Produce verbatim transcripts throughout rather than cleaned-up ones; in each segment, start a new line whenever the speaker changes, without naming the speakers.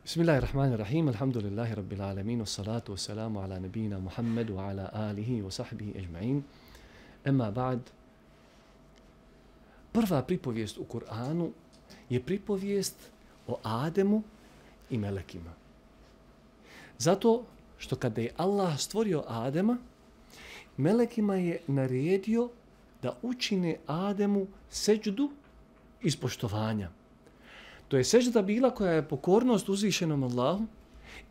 Bismillahirrahmanirrahim. Alhamdulillahi rabbil alamin. Wassalatu wassalamu ala nabina Muhammad wa ala alihi wa sahbihi ajma'in. Amma ba'd. Prva pripovijest u Kur'anu je pripovijest o Ademu i melekima. Zato što kada je Allah stvorio Adema, melekima je naredio da učine Ademu seđdu iz poštovanja. To je sežda bila koja je pokornost uzvišenom Allahu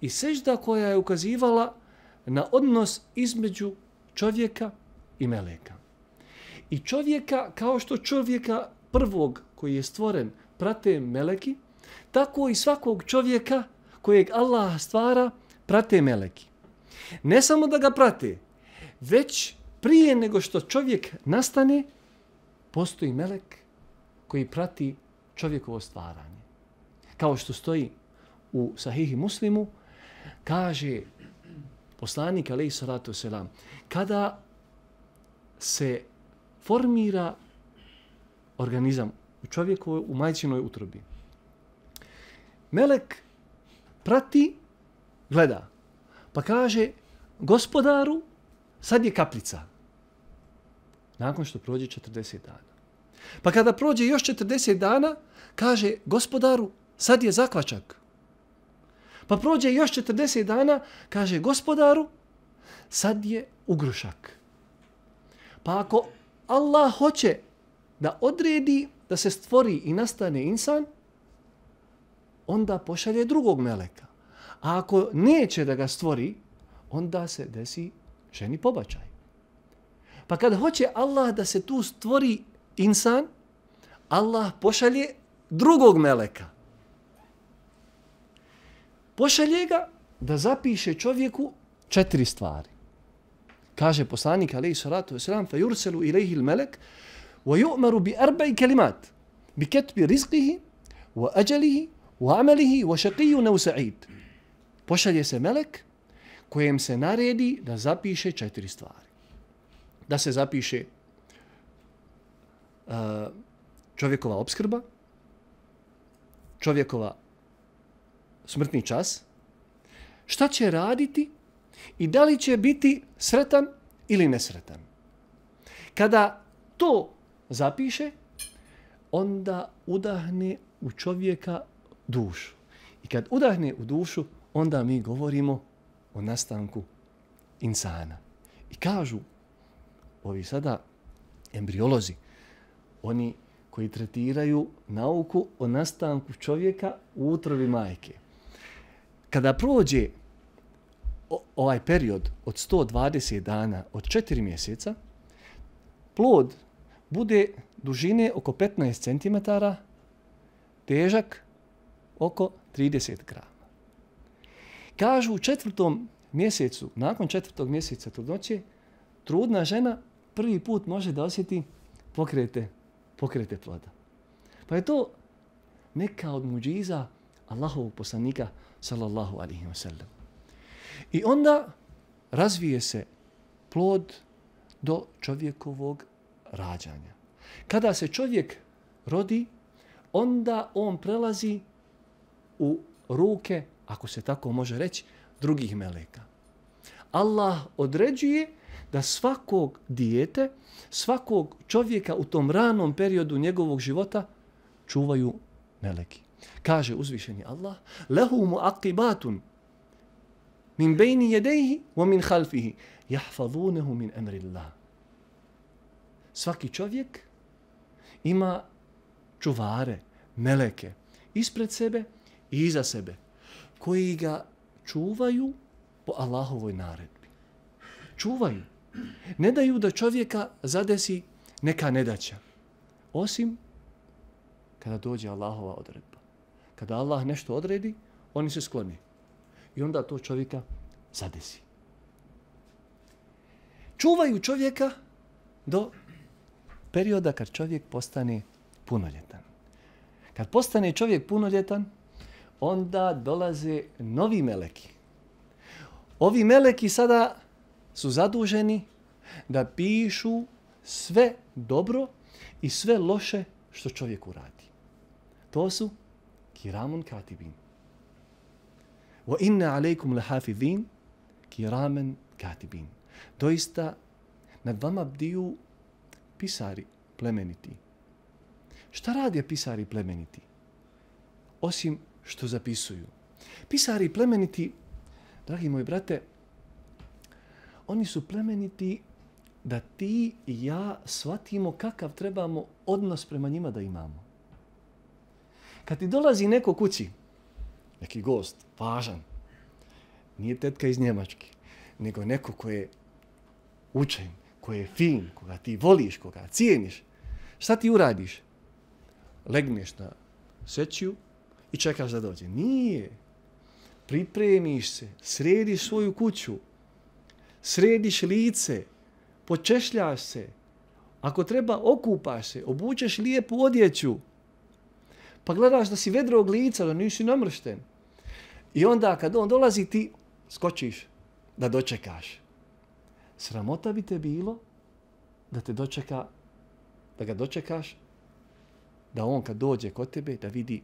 i sežda koja je ukazivala na odnos između čovjeka i meleka. I čovjeka, kao što čovjeka prvog koji je stvoren prate meleki, tako i svakog čovjeka kojeg Allah stvara prate meleki. Ne samo da ga prate, već prije nego što čovjek nastane, postoji melek koji prati čovjekovo stvaranje. Kao što stoji u Sahihi Muslimu, kaže poslanik alejhi salatu selam, kada se formira organizam u čovjekovoj, u majčinoj utrobi, melek prati, gleda, pa kaže gospodaru, sad je kaplica. Nakon što prođe četrdeset dana. Pa kada prođe još četrdeset dana, kaže gospodaru, sad je zakvačak. Pa prođe još četrdeset dana, kaže gospodaru, sad je ugrušak. Pa ako Allah hoće da odredi da se stvori i nastane insan, onda pošalje drugog meleka. A ako neće da ga stvori, onda se desi ženi pobačaj. Pa kad hoće Allah da se tu stvori insan, Allah pošalje drugog meleka. Pošalje ga da zapiše čovjeku četiri stvari. Kaže poslanik alejhi salatu vesselam, fa yurselu ilayhi al-malak wa yu'maru bi arba'i kalimat bi katbi rizqihi wa ajalihi wa amalihi wa shaqiyyun aw sa'id. Pošalje se melek kojem se naredi da zapiše četiri stvari. Da se zapiše uh, čovjekova opskrba, čovjekova smrtni čas, šta će raditi i da li će biti sretan ili nesretan. Kada to zapiše, onda udahne u čovjeka dušu. I kad udahne u dušu, onda mi govorimo o nastanku insana. I kažu ovi sada embriolozi, oni koji tretiraju nauku o nastanku čovjeka u utrobi majke. Kada prođe ovaj period od sto dvadeset dana, od četiri mjeseca, plod bude dužine oko petnaest centimetara, težak oko trideset grama. Kažu u četvrtom mjesecu, nakon četvrtog mjeseca trudnoće, trudna žena prvi put može da osjeti pokrete, pokrete ploda. Pa je to neka od muđiza Allahovog poslanika sallallahu alaihi wa sallam. I onda razvije se plod do čovjekovog rađanja. Kada se čovjek rodi, onda on prelazi u ruke, ako se tako može reći, drugih meleka. Allah određuje da svakog dijete, svakog čovjeka u tom ranom periodu njegovog života čuvaju meleki. Kaže uzvišeni Allah, lehu muaqibatun min bejni jedejhi wa min halfihi jahfazunehu min emrillah. Svaki čovjek ima čuvare, meleke, ispred sebe i iza sebe, koji ga čuvaju po Allahovoj naredbi. Čuvaju. Ne daju da čovjeka zadesi neka nedaća. Osim kada dođe Allahova odredba. Kada Allah nešto odredi, oni se skloni. I onda to čovjeka zadesi. Čuvaju čovjeka do perioda kad čovjek postane punoljetan. Kad postane čovjek punoljetan, onda dolaze novi meleki. Ovi meleki sada su zaduženi da pišu sve dobro i sve loše što čovjek uradi. To su kiramun katibin. Wa inna alejkum lahafizin kiraman katibin. Doista nad vama bdiju pisari plemeniti. Šta rade pisari plemeniti? Osim što zapisuju. Pisari plemeniti, dragi moji brate, oni su plemeniti da ti i ja shvatimo kakav trebamo odnos prema njima da imamo. Kad ti dolazi neko kući, neki gost, važan, nije tetka iz Njemačke, nego neko ko je učen, ko je fin, koga ti voliš, koga cijeniš, šta ti uradiš? Legneš na sećiju i čekaš da dođe. Nije. Pripremiš se, središ svoju kuću, središ lice, počešljaš se, ako treba okupaš se, obučeš lijepu odjeću, pa gledaš da si vedrog lica, da nisi namršten. I onda kad on dolazi ti skočiš da dočekaš. Sramota bi te bilo da te dočeka, da ga dočekaš, da on kad dođe kod tebe da vidi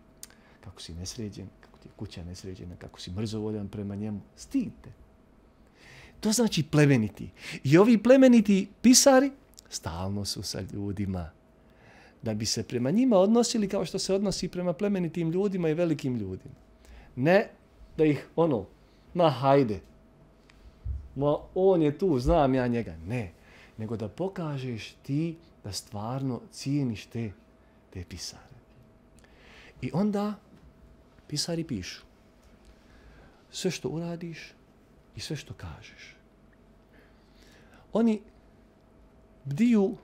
kako si nesređen, kako ti je kuća nesređena, kako si mrzovoljan prema njemu. Stid te. To znači plemeniti. I ovi plemeniti pisari stalno su sa ljudima. Da bi se prema njima odnosili kao što se odnosi prema plemenitim ljudima i velikim ljudima. Ne da ih ono, ma hajde, ma on je tu, znam ja njega. Ne, nego da pokažeš ti da stvarno cijeniš te, te pisare. I onda pisari pišu. Sve što uradiš i sve što kažeš. Oni bdiju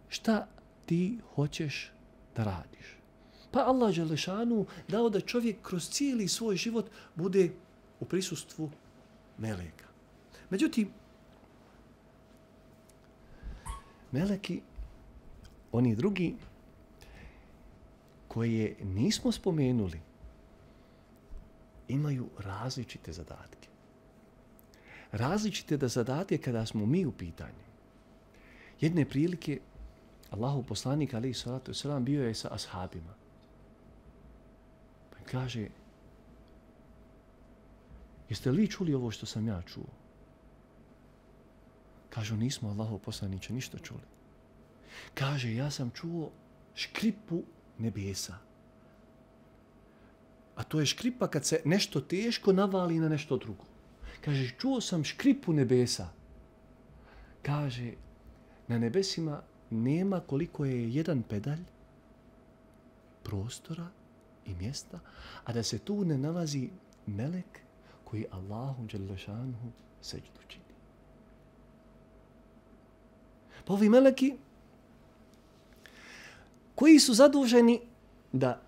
šta ti hoćeš da radiš. Pa Allah dželešanu dao da čovjek kroz cijeli svoj život bude u prisustvu meleka. Međutim, meleki, oni drugi koje nismo spomenuli, imaju različite zadatke. Različite da zadatke kada smo mi u pitanju. Jedne prilike Allahu poslanik alejhi salatu vesselam bio je sa ashabima. Pa kaže: "Jeste li čuli ovo što sam ja čuo?" Kažu: "Nismo, Allahu poslaniče, ništa čuli." Kaže: "Ja sam čuo škripu nebesa." A to je škripa kad se nešto teško navali na nešto drugo. Kaže: "Čuo sam škripu nebesa." Kaže: "Na nebesima nema koliko je jedan pedalj prostora i mjesta, a da se tu ne nalazi melek koji Allahu dželle šanuhu seđdu čini." Pa ovi meleki koji su zaduženi da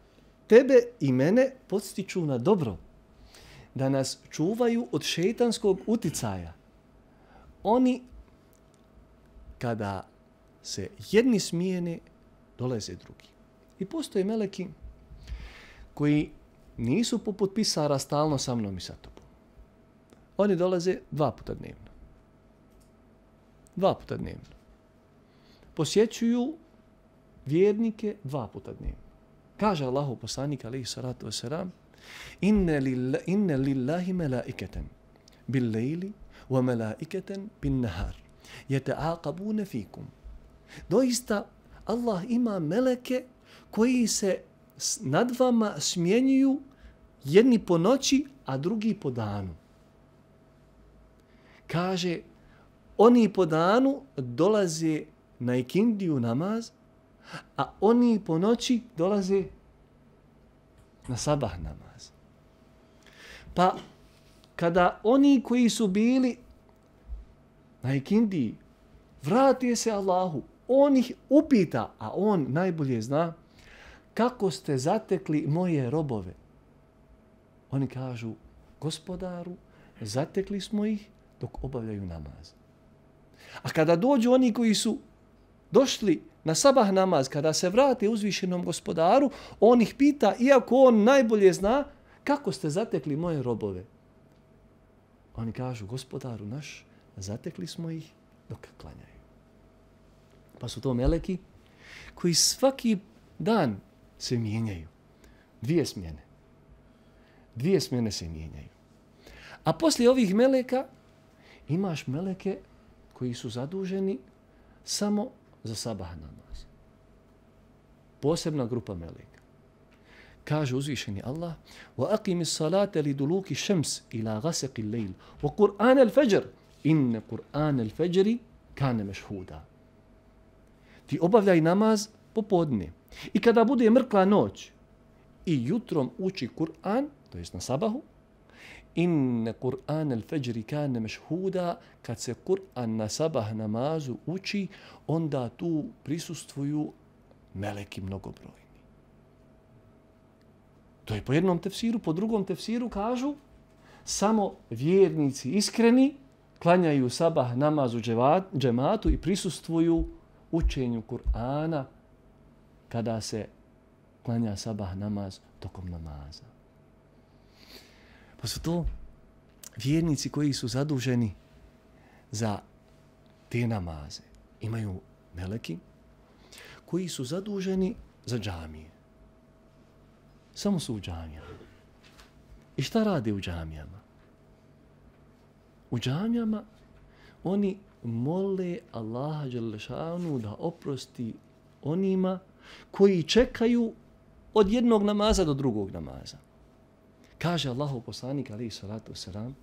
tebe i mene podstiču na dobro, da nas čuvaju od šejtanskog uticaja. Oni, kada se jedni smijene, dolaze drugi. I postoje meleki koji nisu poput pisara stalno sa mnom i sa tobom. Oni dolaze dva puta dnevno. Dva puta dnevno. Posjećuju vjernike dva puta dnevno. Kaže Allahu poslanik alejhi salatu vesselam: "Inna lillahi inna lillahi malaikatan bil lejli wa malaikatan bin nahar yata'aqabuna fikum." Doista Allah ima meleke koji se nad vama smjenjuju, jedni po noći, a drugi po danu. Kaže, oni po danu dolaze na ikindiju namaz, a oni po noći dolaze na sabah namaz. Pa kada oni koji su bili na ikindiji vrate se Allahu, on ih upita, a on najbolje zna kako ste zatekli moje robove. Oni kažu: "Gospodaru, zatekli smo ih dok obavljaju namaz." A kada dođu oni koji su došli na sabah namaz, kada se vrate uzvišenom Gospodaru, on ih pita, iako on najbolje zna, kako ste zatekli moje robove. Oni kažu: "Gospodaru naš, zatekli smo ih dok klanjaju." Pa su to meleki koji svaki dan se mijenjaju. Dvije smjene. Dvije smjene se mijenjaju. A poslije ovih meleka imaš meleke koji su zaduženi samo za sabah namaz. Posebna grupa meleka. Kaže uzvišeni Allah: وَأَقِمِ الصَّلَاةَ لِدُلُوكِ الشَّمْسِ إِلَى غَسَقِ اللَّيْلِ وَقُرْآنَ الْفَجْرِ إِنَّ قُرْآنَ الْفَجْرِ كَانَ مَشْهُودًا. Ti obavljaj namaz popodne. I kada bude mrkla noć i jutrom uči Kur'an, to jest na sabahu, inne Kur'an al-fajri kane mešhuda, kad se Kur'an na sabah namazu uči, onda tu prisustvuju meleki mnogobrojni. To je po jednom tefsiru, po drugom tefsiru kažu samo vjernici iskreni klanjaju sabah namazu džematu i prisustvuju učenju Kur'ana kada se klanja sabah namaz tokom namaza. Pa su to vjernici koji su zaduženi za te namaze. Imaju meleki koji su zaduženi za džamije. Samo su u džamijama. I šta rade u džamijama? U džamijama oni mole Allaha dželešanu da oprosti onima koji čekaju od jednog namaza do drugog namaza. Kaže Allahov poslanik alejhi salatu vesselam,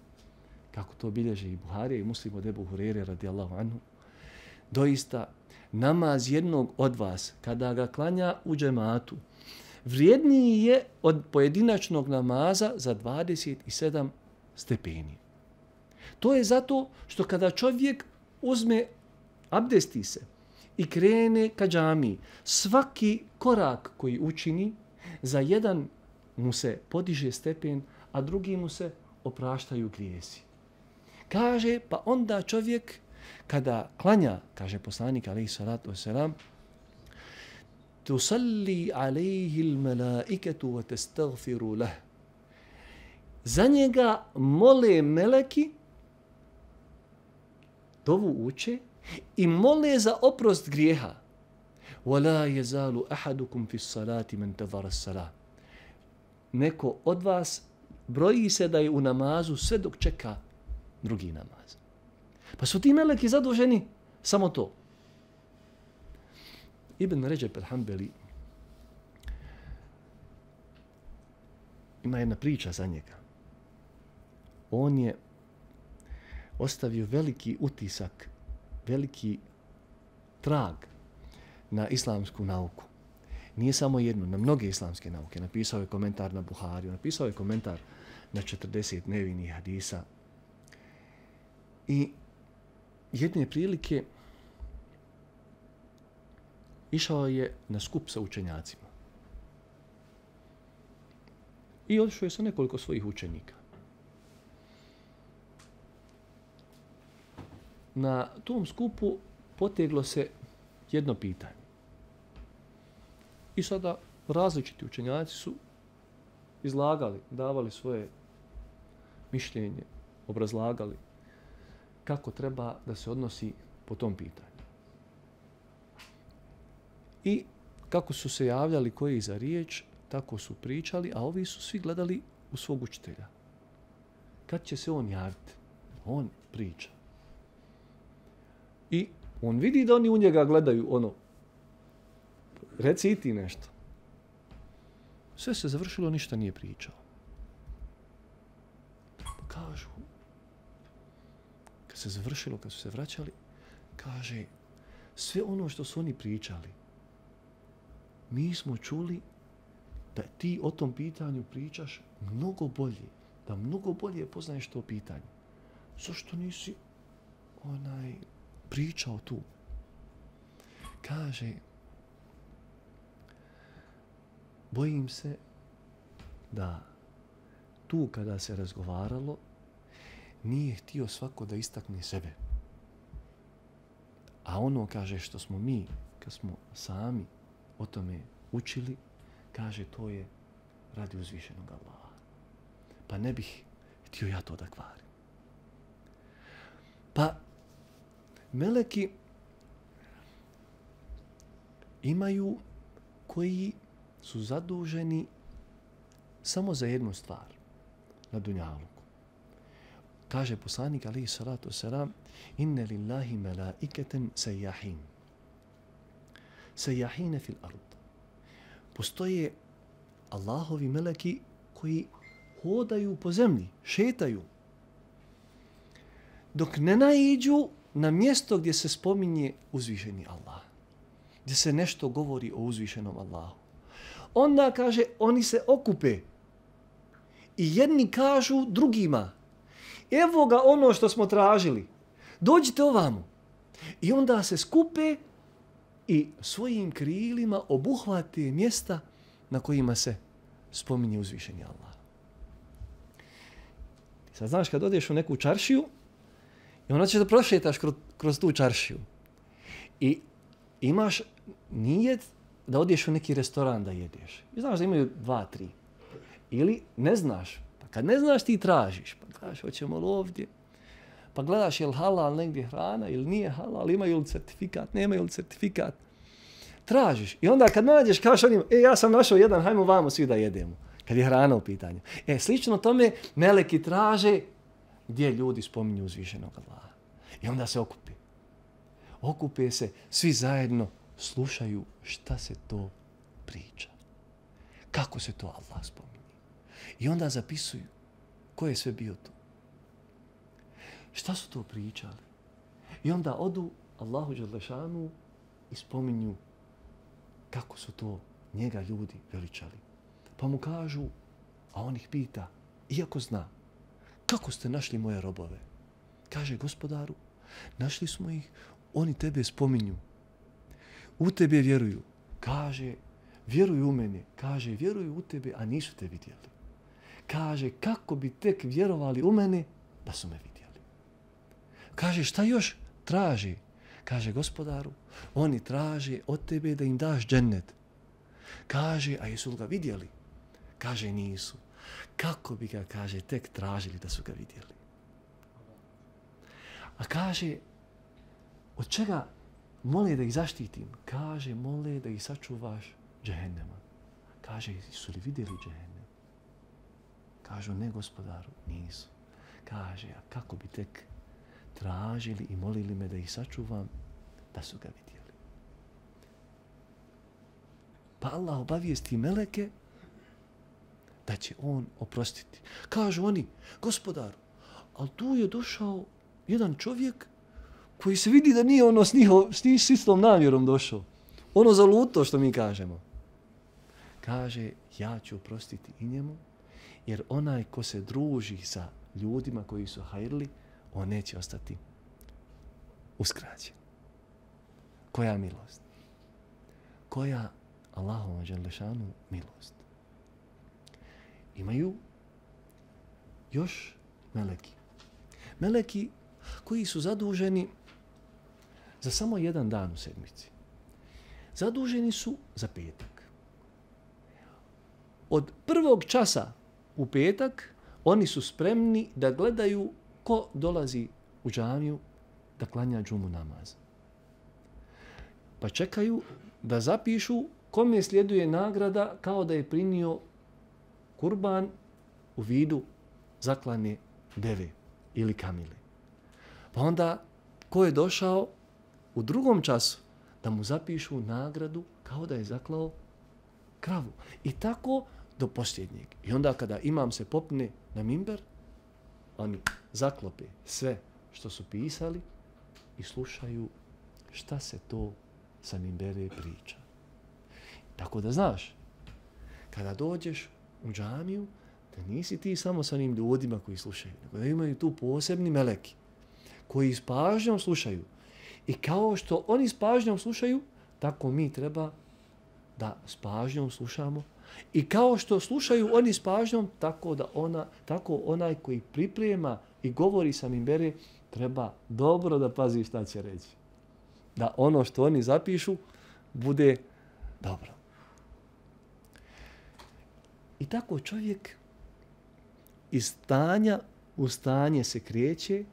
kako to bilježe i Buharija i Muslim od Ebu Hurere radijallahu anhu, doista namaz jednog od vas kada ga klanja u džematu vrijedniji je od pojedinačnog namaza za dvadeset sedam stepeni. To je zato što kada čovjek uzme, abdesti se i krene ka džamiji, svaki korak koji učini, za jedan mu se podiže stepen, a drugi mu se opraštaju grijesi. Kaže, pa onda čovjek kada klanja, kaže poslanik alejhi salatu vesselam, tusalli alejhi l-malaikatu wa tastaghfiru lah. Za njega mole meleki, dovu uče i mole za oprost grijeha. وَلَا يَزَالُ أَحَدُكُمْ فِي الصَّلَاةِ مَنْ تَذَرَ الصَّلَاةِ. Neko od vas broji se da je u namazu sve dok čeka drugi namaz. Pa su ti meleki zaduženi samo to. Ibn Ređep el-Hanbeli ima jedna priča za njega. On je ostavio veliki utisak, veliki trag na islamsku nauku. Nije samo jednu, na mnoge islamske nauke. Napisao je komentar na Buhariju, napisao je komentar na četrdeset nevinih hadisa. I jedne prilike išao je na skup sa učenjacima. I otišao je sa nekoliko svojih učenika. Na tom skupu poteglo se jedno pitanje. I sada različiti učenjaci su izlagali, davali svoje mišljenje, obrazlagali kako treba da se odnosi po tom pitanju. I kako su se javljali koji za riječ, tako su pričali, a ovi su svi gledali u svog učitelja. Kad će se on javiti? On priča. I on vidi da oni u njega gledaju ono, reci i ti nešto. Sve se završilo, ništa nije pričao. Pa kažu, kad se završilo, kad su se vraćali, kaže, sve ono što su oni pričali, mi smo čuli da ti o tom pitanju pričaš mnogo bolje, da mnogo bolje poznaješ to pitanje. Zašto nisi onaj pričao tu? Kaže, bojim se da tu kada se razgovaralo nije htio svako da istakne sebe. A ono, kaže, što smo mi, kad smo sami o tome učili, kaže, to je radi uzvišenog Allaha. Pa ne bih htio ja to da kvarim. Pa meleki imaju koji su zaduženi samo za jednu stvar. na dunjaluku. Kaže poslanik alejhi salatu selam: "Inna lillahi malaikatan sayyahin." Sayyahin fil ard. Postoje Allahovi meleki koji hodaju po zemlji, šetaju, dok ne naiđu na mjesto gdje se spominje uzvišeni Allah, gdje se nešto govori o uzvišenom Allahu. Onda, kaže, oni se okupe i jedni kažu drugima: evo ga ono što smo tražili, dođite ovamo. I onda se skupe i svojim krilima obuhvate mjesta na kojima se spominje uzvišeni Allah. Sad znaš, kad odeš u neku čaršiju i onda ćeš da prošetaš kroz, kroz tu čaršiju i imaš nijet da odeš u neki restoran da jedeš. I znaš da imaju dva, tri. Ili ne znaš. Pa kad ne znaš ti tražiš. Pa kažeš hoćemo li ovdje. Pa gledaš je li halal negdje hrana ili nije halal, imaju li certifikat, nemaju li certifikat. Tražiš. I onda kad nađeš kažeš onim, e ja sam našao jedan, hajmo vamo svi da jedemo. Kad je hrana u pitanju. E slično tome meleki traže gdje ljudi spominju uzvišenog Allaha. I onda se okupi. Okupe se, svi zajedno slušaju šta se to priča. Kako se to Allah spominje. I onda zapisuju ko je sve bio tu. Šta su to pričali? I onda odu Allahu dželešanu i spominju kako su to njega ljudi veličali. Pa mu kažu, a on ih pita, iako zna, kako ste našli moje robove? Kaže, gospodaru, našli smo ih, oni tebe spominju. U tebe vjeruju. Kaže, vjeruju u mene. Kaže, vjeruju u tebe, a nisu te vidjeli. Kaže, kako bi tek vjerovali u mene da su me vidjeli. Kaže, šta još traži? Kaže, gospodaru, oni traže od tebe da im daš džennet. Kaže, a jesu li ga vidjeli? Kaže, nisu. Kako bi ga, kaže, tek tražili da su ga vidjeli? A kaže, od čega mole da ih zaštitim? Kaže, mole da ih sačuvaš džehennema. Kaže, su li vidjeli džehennem? Kažu, ne gospodaru, nisu. Kaže, a kako bi tek tražili i molili me da ih sačuvam da su ga vidjeli? Pa Allah obavijesti meleke da će on oprostiti. Kažu oni, gospodaru, ali tu je došao jedan čovjek koji se vidi da nije ono s, njiho, s istom namjerom došao. Ono zaluto što mi kažemo. Kaže, ja ću oprostiti i njemu, jer onaj ko se druži sa ljudima koji su hajrli, on neće ostati uskraćen. Koja milost? Koja Allahova dželešanu milost? Imaju još meleki. Meleki koji su zaduženi za samo jedan dan u sedmici. Zaduženi su za petak. Od prvog časa u petak oni su spremni da gledaju ko dolazi u džamiju da klanja džumu namaz. Pa čekaju da zapišu kome sljeduje nagrada kao da je prinio kurban u vidu zaklane deve ili kamile. Pa onda ko je došao u drugom času da mu zapišu nagradu kao da je zaklao kravu. I tako do posljednjeg. I onda kada imam se popne na mimber, oni zaklope sve što su pisali i slušaju šta se to sa mimbere priča. Tako da znaš, kada dođeš u džamiju, da nisi ti samo sa onim ljudima koji slušaju, nego da imaju tu posebni meleki koji s pažnjom slušaju. I kao što oni s pažnjom slušaju, tako mi treba da s pažnjom slušamo. I kao što slušaju oni s pažnjom, tako da ona, tako onaj koji priprema i govori sa mimbere, treba dobro da pazi šta će reći. Da ono što oni zapišu bude dobro. I tako čovjek iz stanja u stanje se kreće,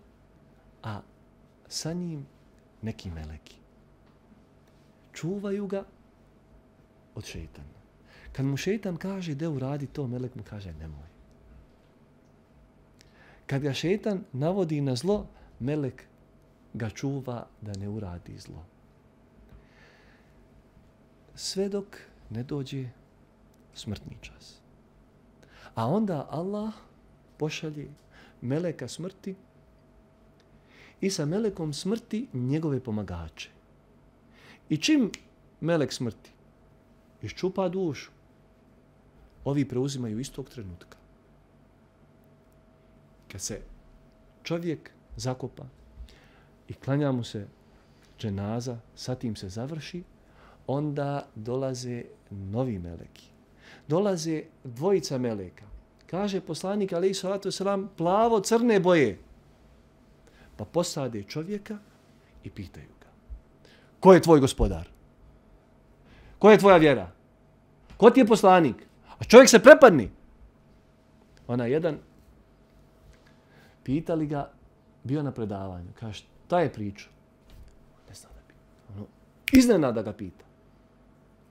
a sa njim neki meleki. Čuvaju ga od šejtana. Kad mu šejtan kaže da uradi to, melek mu kaže nemoj. Kad ga šetan navodi na zlo, melek ga čuva da ne uradi zlo. Sve dok ne dođe smrtni čas. A onda Allah pošalje meleka smrti i sa melekom smrti njegove pomagače. I čim melek smrti iščupa dušu, ovi preuzimaju istog trenutka. Kad se čovjek zakopa i klanja mu se dženaza, sa tim se završi, onda dolaze novi meleki. Dolaze dvojica meleka. Kaže poslanik alejhi salatu vesselam plavo crne boje. Pa posade čovjeka i pitaju ga. Ko je tvoj gospodar? Ko je tvoja vjera? Ko ti je poslanik? A čovjek se prepadni. Ona jedan pitali ga, bio na predavanju. Kaže, šta je priča? Ne zna da pita. Ono, iznenada ga pita.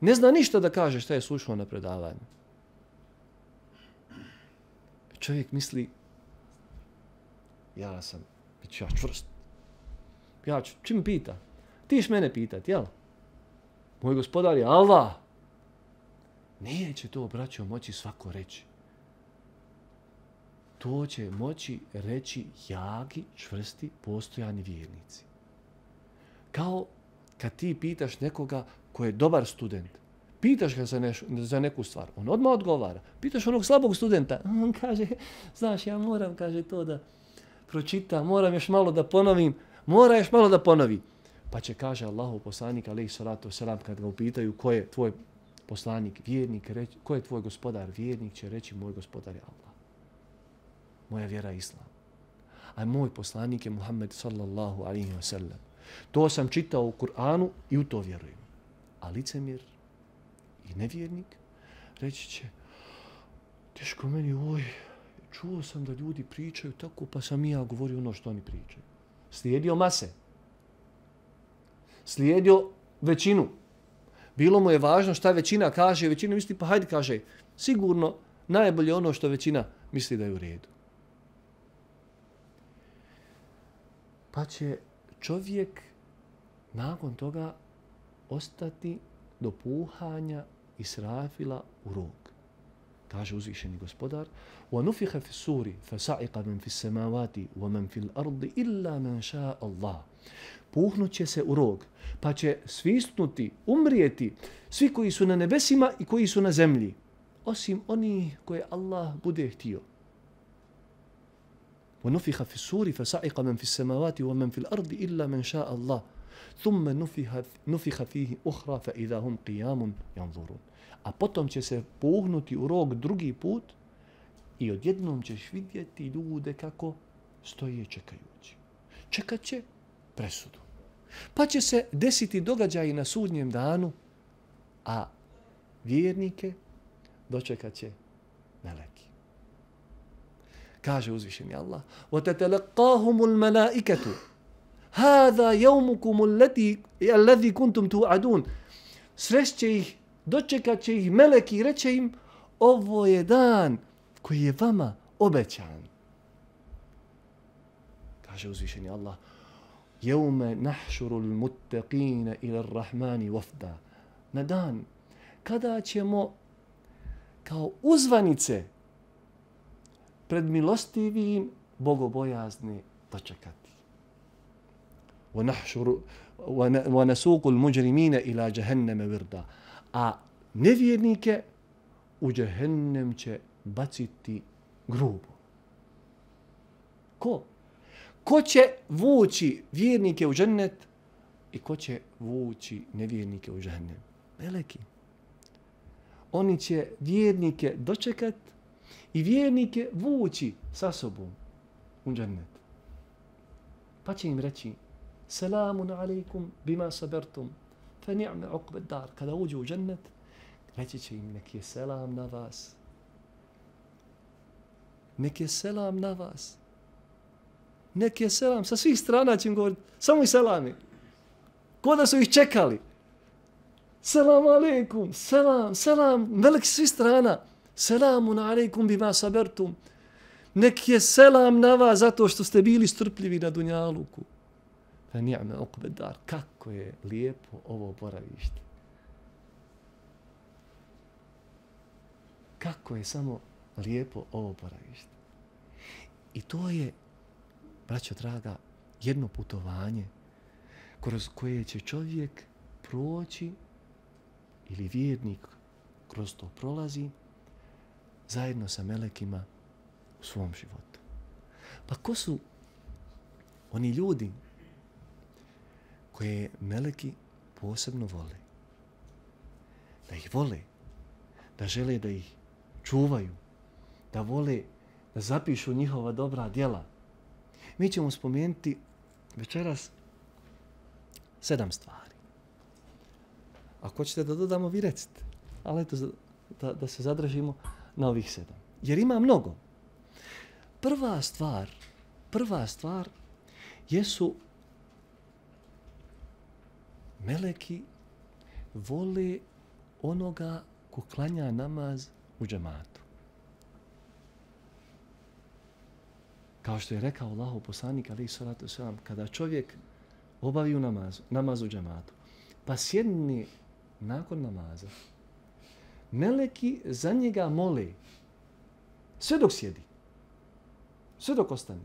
Ne zna ništa da kaže šta je slušao na predavanju. Čovjek misli, ja sam, bit ću ja čvrst. Ja ću, čim pita? Ti ćeš mene pitat, jel? Moj gospodar je Allah. Neće to, braćo, moći svako reći. To će moći reći jaki, čvrsti, postojani vjernici. Kao kad ti pitaš nekoga ko je dobar student, pitaš ga za, neš, za neku stvar, on odmah odgovara. Pitaš onog slabog studenta, on kaže, znaš, ja moram, kaže, to da pročitam, moram još malo da ponovim, mora još malo da ponovi. Pa će, kaže Allahov poslanik, alejhi salatu vesselam, kad ga upitaju ko je tvoj poslanik, vjernik, reći, ko je tvoj gospodar, vjernik će reći, moj gospodar je Allah. Moja vjera je Islam. A moj poslanik je Muhammed sallallahu alaihi wa sallam. To sam čitao u Kur'anu i u to vjerujem. A licemjer i nevjernik reći će, teško meni, oj, čuo sam da ljudi pričaju tako, pa sam i ja govorio ono što oni pričaju. Slijedio mase. Slijedio većinu. Bilo mu je važno šta većina kaže, većina misli, pa hajde kaže, sigurno najbolje ono što većina misli da je u redu. Pa će čovjek nakon toga ostati do puhanja Israfila u rog. Kaže uzvišeni gospodar: وَنُفِخَ فِي السُّورِ فَسَعِقَ مَنْ فِي السَّمَاوَاتِ وَمَنْ فِي الْأَرْضِ إِلَّا مَنْ شَاءَ اللَّهِ. Puhnut će se u rog, pa će svisnuti, umrijeti svi koji su na nebesima i koji su na zemlji, osim oni koje Allah bude htio. وَنُفِخَ فِي السُّورِ فَسَعِقَ مَنْ فِي السَّمَاوَاتِ وَمَنْ فِي الْأَرْضِ إِلَّا مَنْ شَاءَ اللَّهِ ثُمَّ نُفِخَ فِيهِ أُخْرَى فَإِذَا هُمْ قِيَامٌ يَنْظُرُونَ. A potom će se puhnuti u rog drugi put i odjednom ćeš vidjeti ljude kako stoje čekajući. Čekat će presudu. Pa će se desiti događaji na sudnjem danu, a vjernike dočekat će meleki. Kaže uzvišeni Allah: وَتَتَلَقَّاهُمُ الْمَلَائِكَةُ هَذَا يَوْمُكُمُ الَّذِي كُنْتُمْ تُوعَدُونَ. Sreće ih, dočekat će ih meleki i reće im: ovo je dan koji je vama obećan. Kaže uzvišeni Allah: Jeume nahšurul muttaqine ila rahmani wafda. Na dan kada ćemo kao uzvanice pred milostivim bogobojazne dočekati. Wa nasuqul mujrimina ila jahannama wirda. A nevjernike u džehennem će baciti grubo. Ko? Ko će vući vjernike u džennet i ko će vući nevjernike u džehennem? Meleki. Oni će vjernike dočekat i vjernike vući sa sobom u džennet. Pa će im reći: Selamun alaikum bima sabertum, fa ni'me uqbed dar. Kada uđu u džennet, reći će im: nek je selam na vas. Nek je selam na vas. Nek je selam. Sa svih strana će im govoriti samo i selami. Ko da su ih čekali. Selam alaikum, selam, selam, veliki svih strana. Selamun alaikum bima sabertum. nek je selam na vas zato što ste bili strpljivi na dunjaluku. Fa ni'me uqbed dar. Kako je lijepo ovo boravište. Kako je samo lijepo ovo boravište. I to je, braćo draga, jedno putovanje kroz koje će čovjek proći ili vjernik kroz to prolazi zajedno sa melekima u svom životu. Pa ko su oni ljudi koje meleki posebno vole? Da ih vole, da žele da ih čuvaju, da vole da zapišu njihova dobra djela. Mi ćemo spomenuti večeras sedam stvari. Ako hoćete da dodamo, vi recite. Ali eto, da, da se zadržimo na ovih sedam. Jer ima mnogo. Prva stvar, prva stvar jesu meleki vole onoga ko klanja namaz u džematu. Kao što je rekao Allahov poslanik alejhi salatu vesselam, kada čovjek obavi u namazu, namaz u džematu, pa sjedne nakon namaza, meleki za njega mole sve dok sjedi, sve dok ostane,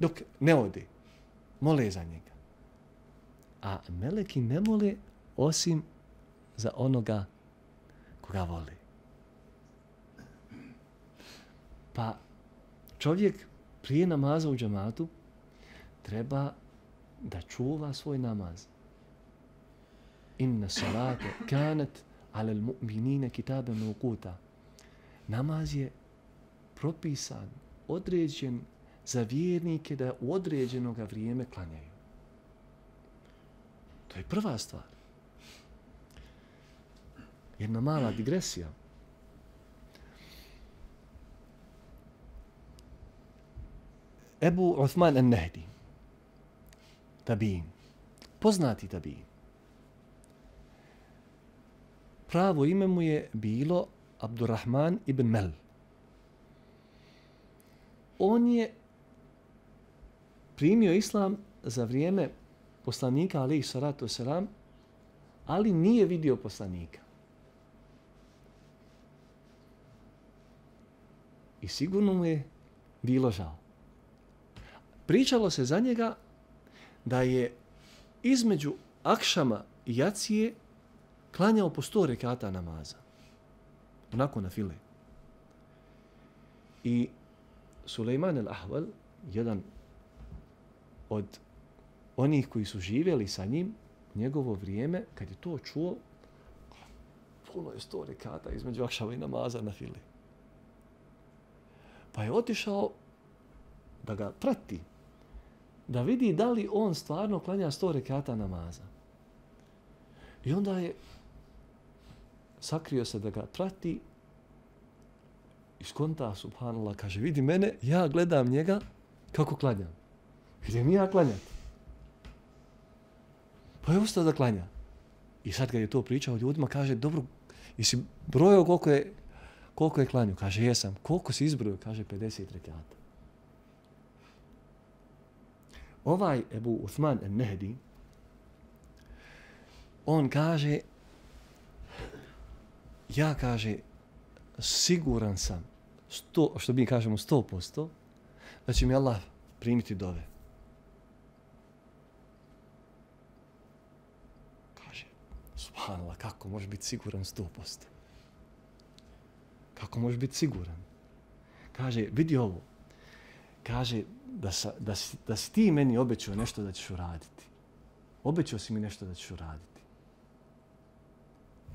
dok ne ode, mole za njega. A meleki ne mole osim za onoga koga vole. Pa čovjek prije namaza u džematu treba da čuva svoj namaz. Inna salate kanet ala al-mu'minina kitaban mawquta. Namaz je propisan, određen za vjernike da u određenog vrijeme klanjaju. To je prva stvar. Jedna mala digresija. Ebu Uthman an-Nahdi, tabiin, poznati tabiin. Pravo ime mu je bilo Abdurrahman ibn Mel. On je primio islam za vrijeme poslanika alejhi salatu vesselam, ali nije vidio poslanika. I sigurno mu je bilo žao. Pričalo se za njega da je između akšama i jacije klanjao po sto rekata namaza. Onako na file. I Sulejman al-Ahval, jedan od onih koji su živjeli sa njim u njegovo vrijeme, kad je to čuo, puno je sto rekata između akšama i namaza na file. Pa je otišao da ga prati, da vidi da li on stvarno klanja sto rekata namaza. I onda je sakrio se da ga prati i skonta, subhanallah, kaže, vidi mene, ja gledam njega kako klanjam. Idem ja klanjati. Pa je ustao da klanja. I sad kad je to pričao ljudima, kaže, dobro, jesi brojao koliko je, koliko je klanju? Kaže, jesam. Koliko si izbrojao? Kaže, pedeset rekata. Ovaj Ebu Uthman an-Nahdi, on kaže, ja kaže, siguran sam, sto, što mi kažemo sto posto, da će mi Allah primiti dove. Kaže, subhanallah, kako može biti siguran sto posto? Kako može biti siguran? Kaže, vidi ovo. Kaže, da, sa, da, si, da si ti meni obećao nešto da ćeš uraditi. Obećao si mi nešto da ćeš uraditi.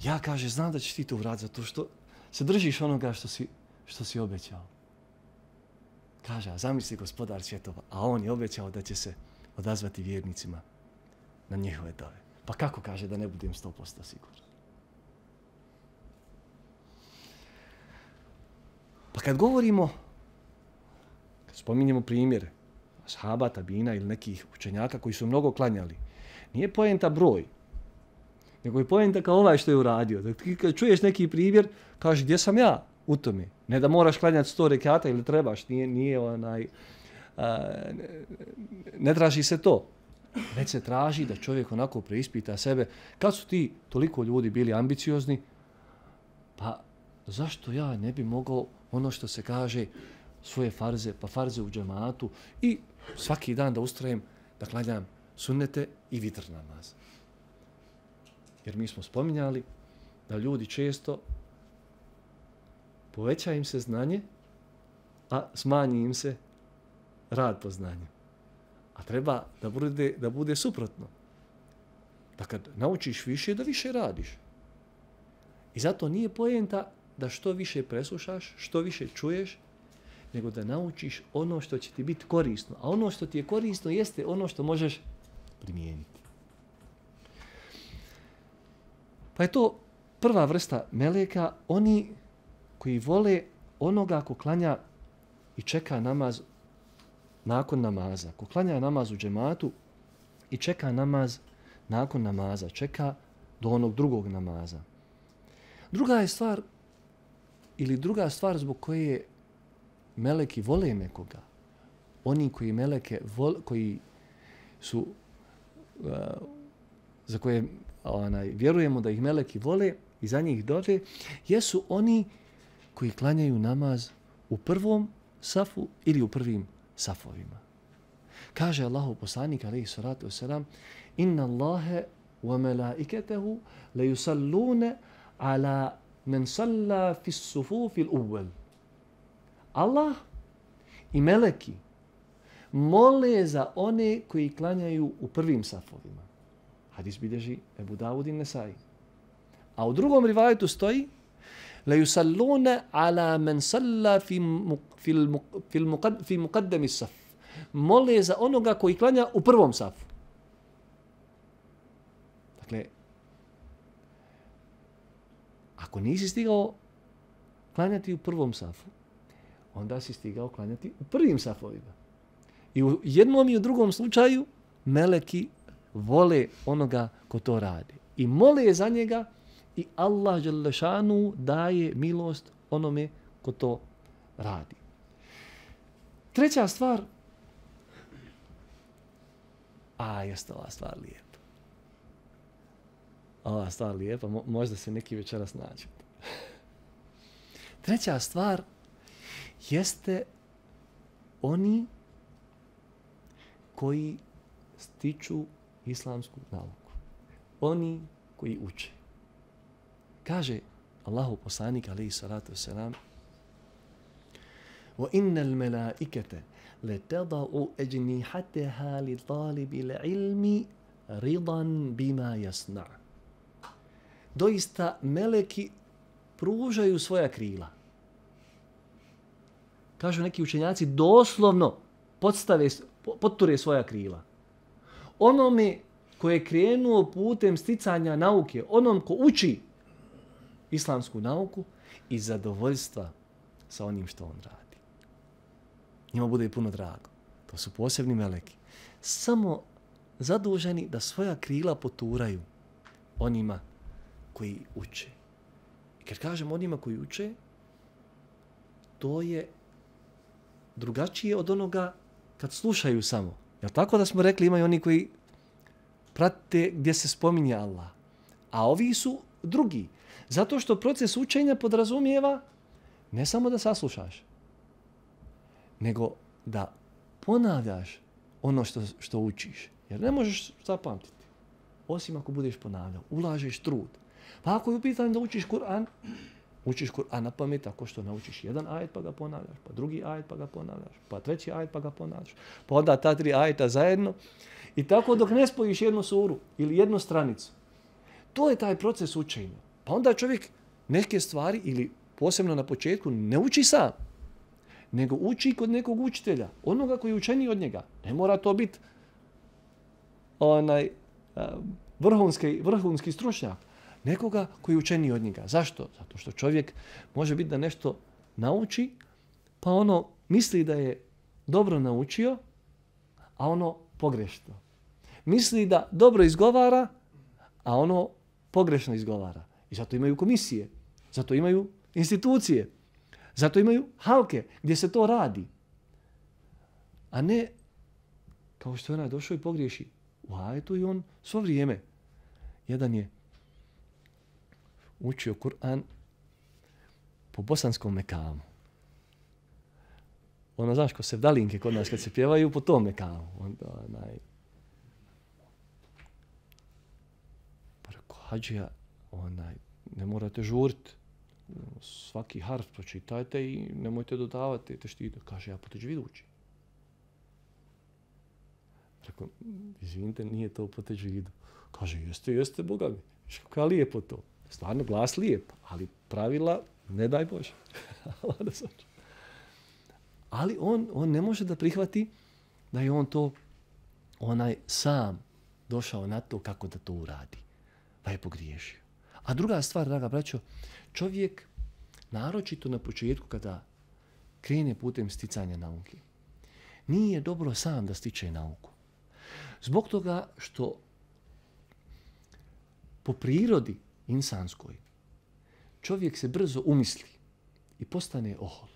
Ja, kaže, znam da ćeš ti to uraditi zato što se držiš onoga što si, što si obećao. Kaže, a zamisli gospodar svjetova, a on je obećao da će se odazvati vjernicima na njihove dove. Pa kako, kaže, da ne budem sto posto siguran? Pa kad govorimo, kad spominjemo primjere ashaba, tabina ili nekih učenjaka koji su mnogo klanjali, nije poenta broj, nego je poenta kao ovaj što je uradio. Da ti kad čuješ neki primjer, kaže, gdje sam ja? u tome. Ne da moraš klanjati sto rekata ili trebaš, nije, nije onaj, a, ne, ne traži se to. Već se traži da čovjek onako preispita sebe. Kad su ti toliko ljudi bili ambiciozni, pa zašto ja ne bi mogao ono što se kaže svoje farze, pa farze u džematu i svaki dan da ustrajem da klanjam sunnete i vitr namaz. Jer mi smo spominjali da ljudi često poveća im se znanje, a smanji im se rad po znanju. A treba da bude, da bude suprotno. Da kad naučiš više, da više radiš. I zato nije poenta da što više preslušaš, što više čuješ, nego da naučiš ono što će ti biti korisno. A ono što ti je korisno jeste ono što možeš primijeniti. Pa je to prva vrsta meleka, oni koji vole onoga ko klanja i čeka namaz nakon namaza. Ko klanja namaz u džematu i čeka namaz nakon namaza, čeka do onog drugog namaza. Druga je stvar, ili druga stvar zbog koje meleki vole nekoga, oni koji meleke vole, koji su, uh, za koje onaj, vjerujemo da ih meleki vole i za njih dođe, jesu oni koji klanjaju namaz u prvom safu ili u prvim safovima. Kaže Allahu poslanik alejhi salatu vesselam: "Inna Allaha wa malaikatahu la yusalluna ala man salla fi as-sufuf al-awwal." Allah i meleki mole za one koji klanjaju u prvim safovima. Hadis bilježi Ebu Davud i Nesai. A u drugom rivajetu stoji: "La yusalluna ala man salla fi fi fi fi muqaddam as-saf." Mole za onoga koji klanja u prvom safu. Dakle, ako nisi stigao klanjati u prvom safu, onda si stigao klanjati u prvim safovima. I u jednom i u drugom slučaju meleki vole onoga ko to radi. I mole za njega i Allah dželle šanu daje milost onome ko to radi. Treća stvar, a jeste ova stvar lijepa. Ova stvar lijepa, mo- možda se neki večeras nađe. Treća stvar jeste oni koji stiču islamsku nauku. Oni koji uče. Kaže Allahu poslanik alejhi salatu vesselam: "Wa innal malaikata latada'u ajnihataha li talibil ilmi ridan bima yasna'." Doista meleki pružaju svoja krila. Kažu neki učenjaci, doslovno podstave, potture svoja krila. Onome ko je krenuo putem sticanja nauke, onom ko uči islamsku nauku i zadovoljstva sa onim što on radi. Njima bude puno drago. To su posebni meleki. Samo zaduženi da svoja krila poturaju onima koji uče. I kad kažem onima koji uče, to je drugačije od onoga kad slušaju samo. Jel tako da smo rekli imaju oni koji prate gdje se spominje Allah. A ovi su drugi. Zato što proces učenja podrazumijeva ne samo da saslušaš, nego da ponavljaš ono što, što učiš. Jer ne možeš zapamtiti. Osim ako budeš ponavljao. Ulažeš trud. Pa ako je u pitanju da učiš Kur'an, učiš Kur'an na pamet tako što naučiš jedan ajet pa ga ponavljaš, pa drugi ajet pa ga ponavljaš, pa treći ajet pa ga ponavljaš, pa onda ta tri ajeta zajedno i tako dok ne spojiš jednu suru ili jednu stranicu. To je taj proces učenja. Pa onda čovjek neke stvari ili posebno na početku ne uči sam, nego uči kod nekog učitelja, onoga koji je učeniji od njega. Ne mora to biti onaj vrhunski, vrhunski stručnjak. Nekoga koji je učeniji od njega. Zašto? Zato što čovjek može biti da nešto nauči, pa ono misli da je dobro naučio, a ono pogrešno. Misli da dobro izgovara, a ono pogrešno izgovara. I zato imaju komisije, zato imaju institucije. Zato imaju halke gdje se to radi. A ne kao što je onaj došao i pogriješi u ajetu i on svo vrijeme. Jedan je učio Kur'an po bosanskom mekamu. Ono, znaš, ko sevdalinke kod nas kad se pjevaju po tom mekamu. Onda, onaj... Pa rekao, hađija, onaj, ne morate žuriti. Svaki harf pročitajte i nemojte dodavati te štite. Kaže, ja po teđvidu učim. Rekao, izvinite, nije to po teđvidu. Kaže, jeste, jeste, Boga mi. Viš kako je lijepo to. Stvarno, glas lijep, ali pravila, ne daj Bože. Ali on, on ne može da prihvati da je on to onaj sam došao na to kako da to uradi. Pa je pogriješio. A druga stvar, draga braćo, čovjek, naročito na početku kada krene putem sticanja nauke, nije dobro sam da stiče nauku. Zbog toga što po prirodi insanskoj čovjek se brzo umisli i postane ohol.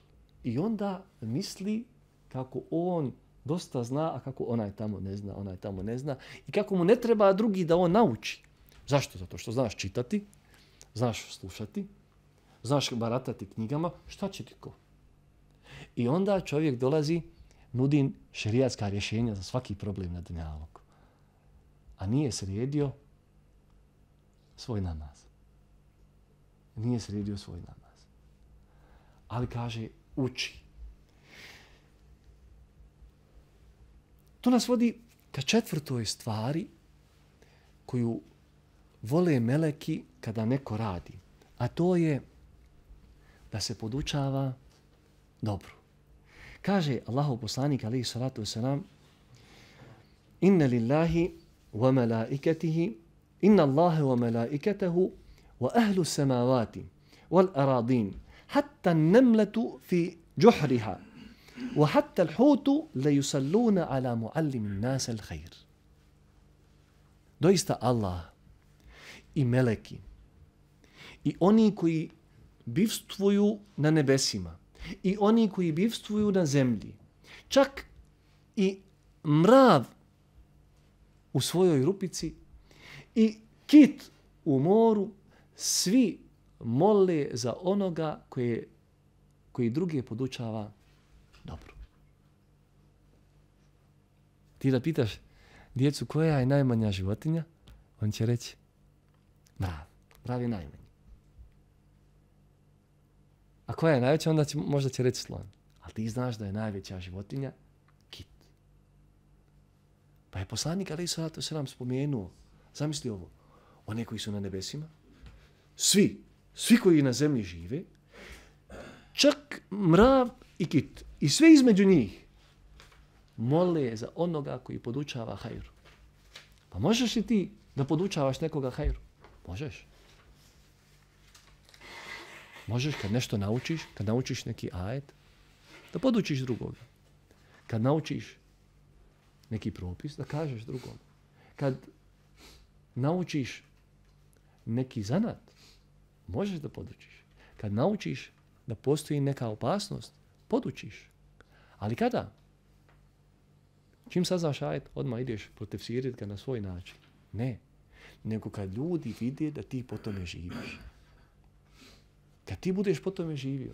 I onda misli kako on dosta zna, a kako onaj tamo ne zna, onaj tamo ne zna. I kako mu ne treba drugi da on nauči. Zašto? Zato što znaš čitati, znaš slušati, znaš baratati knjigama, šta će ti ko? I onda čovjek dolazi, nudi šerijatska rješenja za svaki problem na dunjaluku. A nije sredio svoj namaz. Nije sredio svoj namaz. Ali kaže, uči. To nas vodi ka četvrtoj stvari koju vole meleki kada neko radi. A to je da se podučava dobro. Kaže Allahov poslanik alejhi salatu vesselam: Inna lillahi wa malaikatihi inna Allaha wa malaikatahu wa ahlu samawati wal aradin hatta an-namlatu fi juhriha wa hatta al-hutu la yusalluna ala muallim an-nas al-khair. Doista Allah i meleki i oni koji bivstvuju na nebesima i oni koji bivstvuju na zemlji, čak i mrav u svojoj rupici i kit u moru, svi mole za onoga koje, koji druge podučava dobro. Ti da pitaš djecu koja je najmanja životinja, on će reći mrav. Mrav je najmanji. A koja je najveća, onda će, možda će reći slon. Ali ti znaš da je najveća životinja kit. Pa je poslanik alejhi salatu vesselam spomenuo, zamisli ovo, one koji su na nebesima, svi, svi koji na zemlji žive, čak mrav i kit, i sve između njih, mole za onoga koji podučava hajru. Pa možeš li ti da podučavaš nekoga hajru? Možeš. Možeš kad nešto naučiš, kad naučiš neki ajet, da podučiš drugoga. Kad naučiš neki propis, da kažeš drugom. Kad naučiš neki zanat, možeš da podučiš. Kad naučiš da postoji neka opasnost, podučiš. Ali kada? Čim saznaš ajet, odmah ideš protefsiriti ga na svoj način. Ne. Nego kad ljudi vide da ti po tome živiš. Kad ti budeš po tome živio,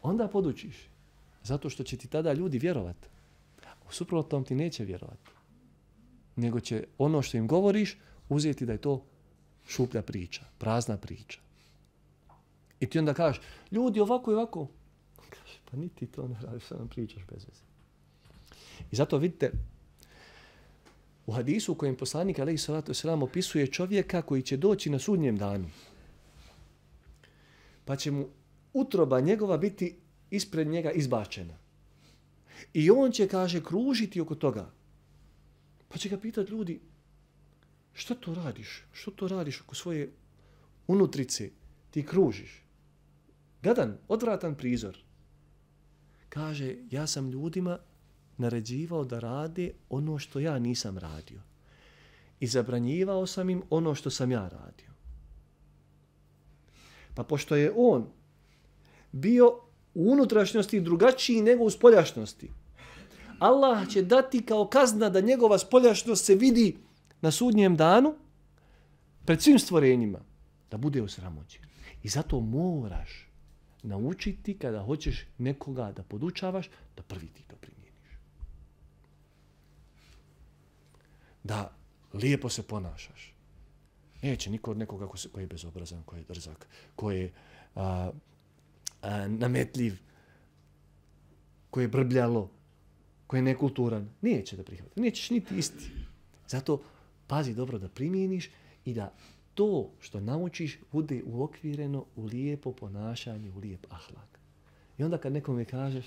onda podučiš. Zato što će ti tada ljudi vjerovati. U suprotnom ti neće vjerovati. Nego će ono što im govoriš uzeti da je to šuplja priča, prazna priča. I ti onda kažeš, ljudi ovako i ovako. Kaže, pa niti to ne radiš, što nam pričaš bez veze. I zato vidite, u hadisu u kojem poslanik alejhi salatu vesselam opisuje čovjeka koji će doći na sudnjem danu. Pa će mu utroba njegova biti ispred njega izbačena. I on će, kaže, kružiti oko toga. Pa će ga pitati ljudi, što to radiš? Što to radiš oko svoje unutrice? Ti kružiš. Gadan, odvratan prizor. Kaže, ja sam ljudima naređivao da rade ono što ja nisam radio. I zabranjivao sam im ono što sam ja radio. Pa pošto je on bio u unutrašnjosti drugačiji nego u spoljašnosti. Allah će dati kao kazna da njegova spoljašnost se vidi na sudnjem danu pred svim stvorenjima, da bude osramoćen. I zato moraš naučiti kada hoćeš nekoga da podučavaš, da prvi ti to primjeniš. Da lijepo se ponašaš. Neće niko od nekoga ko, se, ko je bezobrazan, ko je drzak, ko je a, a, nametljiv, ko je brbljalo, ko je nekulturan. Neće da prihvati. Nećeš niti isti. Zato pazi dobro da primjeniš i da to što naučiš bude uokvireno u lijepo ponašanje, u lijep ahlak. I onda kad nekome kažeš,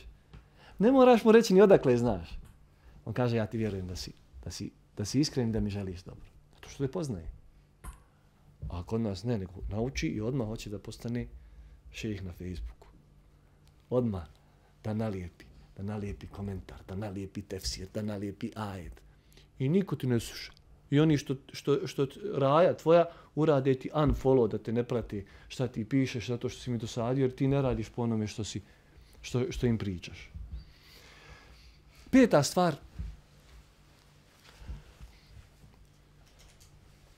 ne moraš mu reći ni odakle znaš. On kaže, ja ti vjerujem da si, da si, da si iskren, da mi želiš dobro. Zato što te poznaje. A kod nas ne, nego nauči i odmah hoće da postane šejih na Facebooku. Odmah da nalijepi, da nalijepi komentar, da nalijepi tefsir, da nalijepi ajet. I niko ti ne sluša. I oni što, što, što raja tvoja urade ti unfollow, da te ne prati šta ti pišeš, zato što si mi dosadio, jer ti ne radiš po onome što, si, što, što im pričaš. Peta stvar.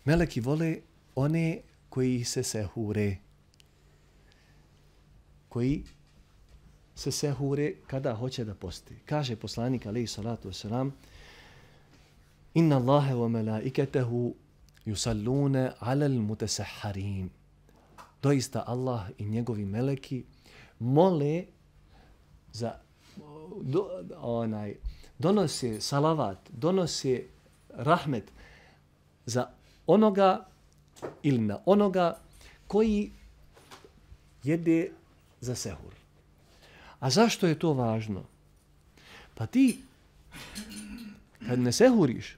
Meleki vole one koji se sehure. Koji se sehure kada hoće da posti. Kaže poslanik alejhi salatu vesselam: Inna Allahe wa malaiketehu yusallune alal mutasahharin. Doista Allah i njegovi meleki mole za do, onaj donose salavat, donose rahmet za onoga ili na onoga koji jede za sehur. A zašto je to važno? Pa ti kad ne sehuriš,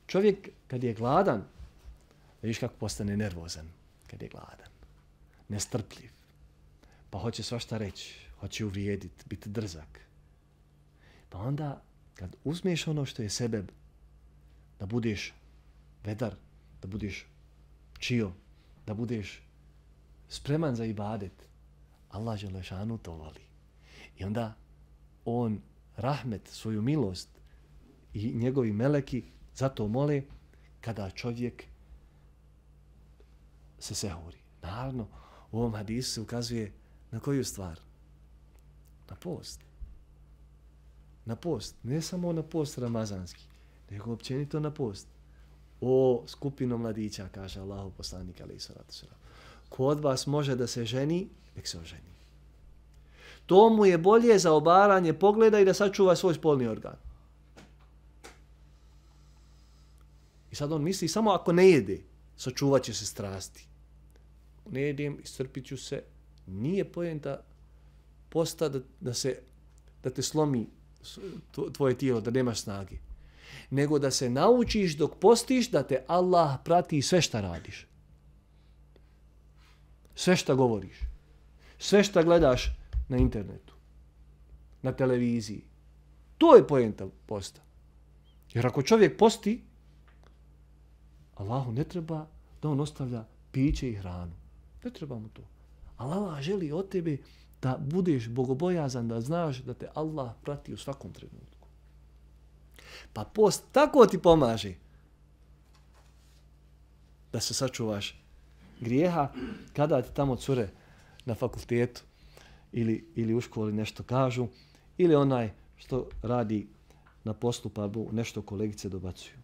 čovjek kad je gladan, vidiš kako postane nervozan kad je gladan, nestrpljiv, pa hoće svašta reći, hoće uvrijediti, biti drzak. Pa onda kad uzmeš ono što je sebeb, da budeš vedar, da budeš čio, da budeš spreman za ibadet, Allah dželešanu to voli. I onda on rahmet, svoju milost i njegovi meleki zato mole kada čovjek se sehuri. Naravno, u ovom hadisu se ukazuje na koju stvar? Na post. Na post. Ne samo na post ramazanski, nego općenito na post. O skupinu mladića, kaže Allahu poslanik alejhi salatu vesselam. Ko od vas može da se ženi, nek se oženi. To mu je bolje za obaranje pogleda i da sačuva svoj spolni organ. I sad on misli samo ako ne jede, sačuvat će se strasti. Ne jedem, iscrpit ću se. Nije poenta posta da, da, se, da te slomi tvoje tijelo, da nemaš snage. Nego da se naučiš dok postiš da te Allah prati sve šta radiš. Sve šta govoriš. Sve šta gledaš na internetu. Na televiziji. To je poenta posta. Jer ako čovjek posti, Allahu ne treba da on ostavlja piće i hranu. Ne treba mu to. Allah želi od tebe da budeš bogobojazan, da znaš da te Allah prati u svakom trenutku. Pa post tako ti pomaže da se sačuvaš grijeha kada ti tamo cure na fakultetu ili, ili u školi nešto kažu ili onaj što radi na poslu pa nešto kolegice dobacuju.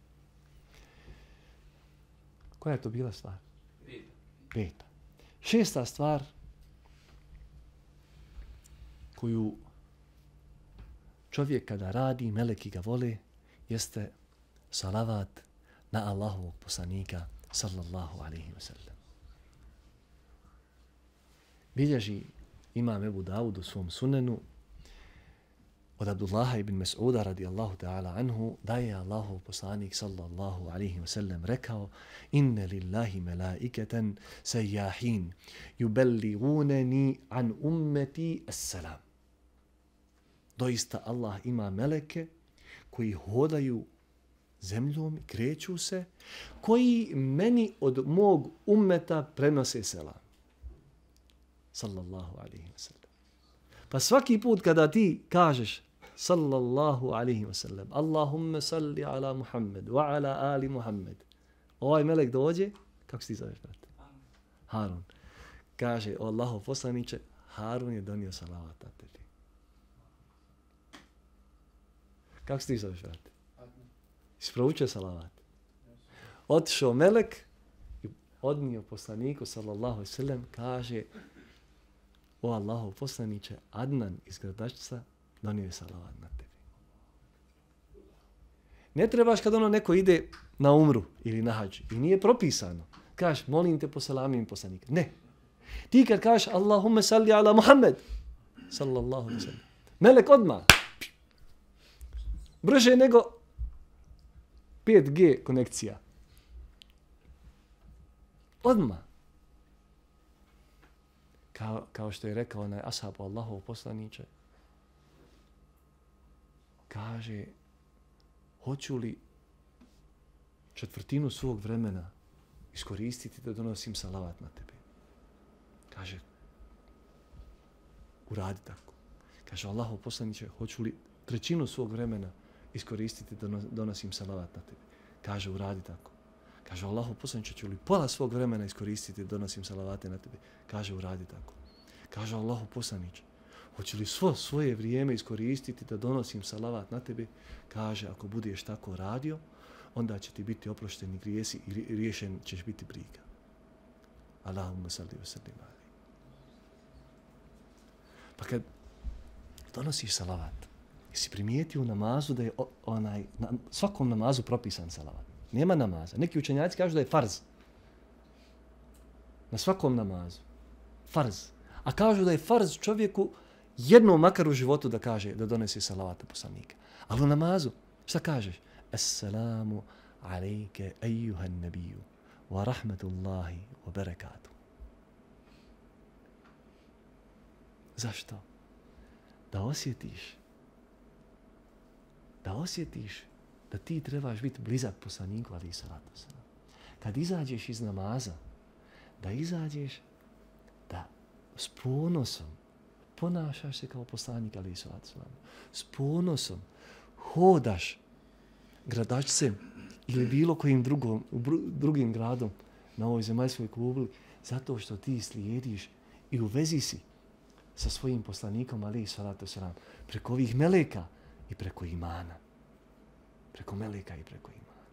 Koja je to bila stvar? Peta. Peta. Šesta stvar koju čovjek kada radi, meleki ga vole, jeste salavat na Allahovog poslanika sallallahu alejhi ve sellem. Bilježi imam Ebu Davud u svom sunenu od Abdullaha ibn Mas'uda radijallahu ta'ala anhu da je Allahov poslanik sallallahu alejhi ve sellem rekao: Inne lillahi melaiketen sejjahin yubelliguneni an ummeti as-salam. Doista Allah ima meleke koji hodaju zemljom i kreću se, koji meni od mog ummeta prenose selam. sallallahu alaihi wa sallam. Pa svaki put kada ti kažeš sallallahu alaihi wa sallam, Allahumma salli ala Muhammed wa ala ali Muhammed, ovaj melek dođe, kako se ti zoveš, brate? Harun. Kaže, o Allahov poslaniče, Harun je donio salavat na tebi. Kako se ti zoveš, brate? Isproučio salavat. Otišao melek i odnio poslaniku, sallallahu alaihi wa sallam, kaže, o Allahov poslaniče, Adnan iz Gradačca donio je salavat na tebi. Ne trebaš kad ono neko ide na umru ili na hađ i nije propisano. Kažeš, molim te poselamim poslanika. Ne. Ti kad kažeš, Allahumma salli ala Muhammed, sallallahu alaihi wa sallam, melek odmah. Brže nego pet G konekcija. Odmah. Kao, kao što je rekao onaj ashab Allahov poslaniče, kaže, hoću li četvrtinu svog vremena iskoristiti da donosim salavat na tebe? Kaže, uradi tako. Kaže, Allahov poslaniče, hoću li trećinu svog vremena iskoristiti da donosim salavat na tebe? Kaže, uradi tako. Kaže, Allahov poslaniče, ću li pola svog vremena iskoristiti da donosim salavate na tebe? Kaže, uradi tako. Kaže, Allahov poslaniče, hoću li svo svoje vrijeme iskoristiti da donosim salavat na tebe? Kaže, ako budeš tako radio, onda će ti biti oprošteni grijesi i riješen ćeš biti briga. Allahumma salli wa sallim alaihi. Pa kad donosiš salavat, jesi primijetio u namazu da je onaj, na svakom namazu propisan salavat? Nema namaza. Neki učenjaci kažu da je farz. Na svakom namazu. Farz. A kažu da je farz čovjeku jednom makar u životu da kaže, da donese salavata poslanika. Ali u namazu, šta kažeš? Assalamu alejke ejuhan nabiju wa rahmatullahi wa barakatuh. Zašto? Da osjetiš, da osjetiš da ti trebaš biti blizak poslaniku, ali i salatu salam. Kad izađeš iz namaza, da izađeš, da s ponosom ponašaš se kao poslanik, ali i salatu salam. S ponosom hodaš Gradačcem ili bilo kojim drugom, drugim gradom na ovoj zemaljskoj kugli, zato što ti slijediš i u vezi si sa svojim poslanikom, ali i salatu salam, preko ovih meleka i preko imana. Preko meleka i preko imana.